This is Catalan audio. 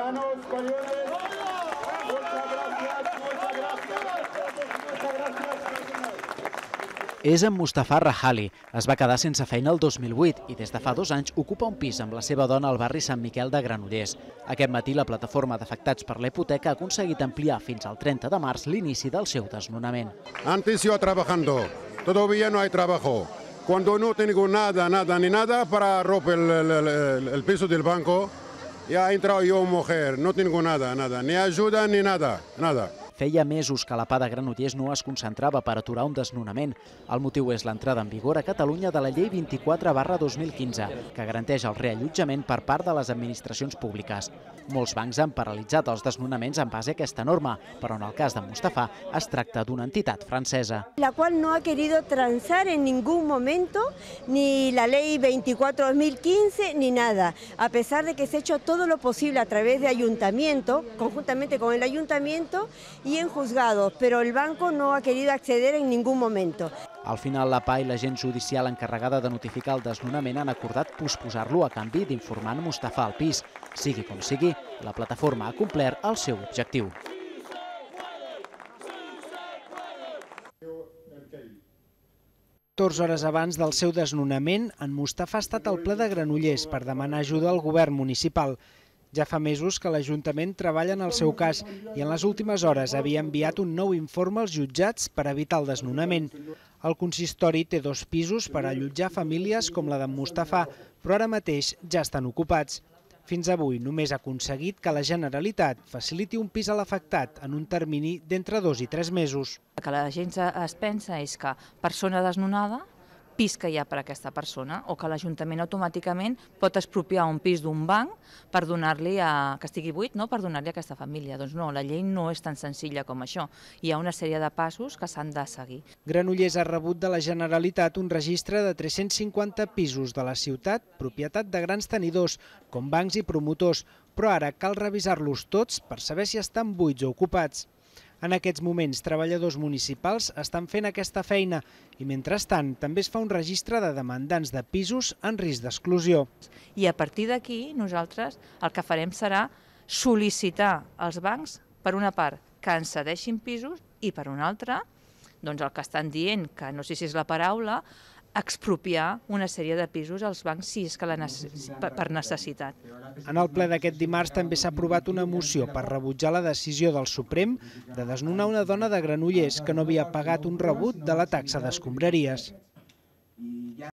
Ciudadanos españoles, muchas gracias, muchas gracias, muchas gracias. És en Mustafa Rahali. Es va quedar sense feina el 2008 i des de fa 2 anys ocupa un pis amb la seva dona al barri Sant Miquel de Granollers. Aquest matí la plataforma d'afectats per la hipoteca ha aconseguit ampliar fins al 30 de març l'inici del seu desnonament. Antes yo trabajando, todavía no hay trabajo. Cuando no tengo nada para romper el piso del banco, ya ha entrado yo mujer, no tengo nada, ni ayuda ni nada. Feia mesos que la PA de Granollers no es concentrava per aturar un desnonament. El motiu és l'entrada en vigor a Catalunya de la Llei 24/2015, que garanteix el reallotjament per part de les administracions públiques. Molts bancs han paralitzat els desnonaments en base a aquesta norma, però en el cas de Mustafa es tracta d'una entitat francesa. La cual no ha querido transar en ningún momento ni la Ley 24/2015 ni nada, a pesar de que se ha hecho todo lo posible a través de ayuntamiento, conjuntamente con el ayuntamiento, y en juzgados, pero el banco no ha querido acceder en ningún momento. Al final, la PA i l'agent judicial encarregada de notificar el desnonament han acordat posposar-lo a canvi d'informar Mustafa al pis. Sigui com sigui, la plataforma ha complert el seu objectiu. Hores abans del seu desnonament, en Mustafa ha estat al ple de Granollers per demanar ajuda al govern municipal. Ja fa mesos que l'Ajuntament treballa en el seu cas i en les últimes hores havia enviat un nou informe als jutjats per evitar el desnonament. El consistori té 2 pisos per allotjar famílies com la d'en Mustafa, però ara mateix ja estan ocupats. Fins avui només ha aconseguit que la Generalitat faciliti un pis a l'afectat en un termini d'entre 2 i 3 mesos. El que la gent es pensa és que persona desnonada, pis que hi ha per a aquesta persona, o que l'Ajuntament automàticament pot expropiar un pis d'un banc per donar-li que estigui buit, per donar-li a aquesta família. Doncs no, la llei no és tan senzilla com això. Hi ha una sèrie de passos que s'han de seguir. Granollers ha rebut de la Generalitat un registre de 350 pisos de la ciutat, propietat de grans tenidors, com bancs i promotors, però ara cal revisar-los tots per saber si estan buits o ocupats. En aquests moments, treballadors municipals estan fent aquesta feina i, mentrestant, també es fa un registre de demandants de pisos en risc d'exclusió. I a partir d'aquí, nosaltres el que farem serà sol·licitar als bancs, per una part, que ens cedeixin pisos i, per una altra, doncs el que estan dient, que no sé si és la paraula, expropiar una sèrie de pisos als bancs si és que per necessitat. En el ple d'aquest dimarts també s'ha aprovat una moció per rebutjar la decisió del Suprem de desnonar una dona de Granollers que no havia pagat un rebut de la taxa d'escombraries.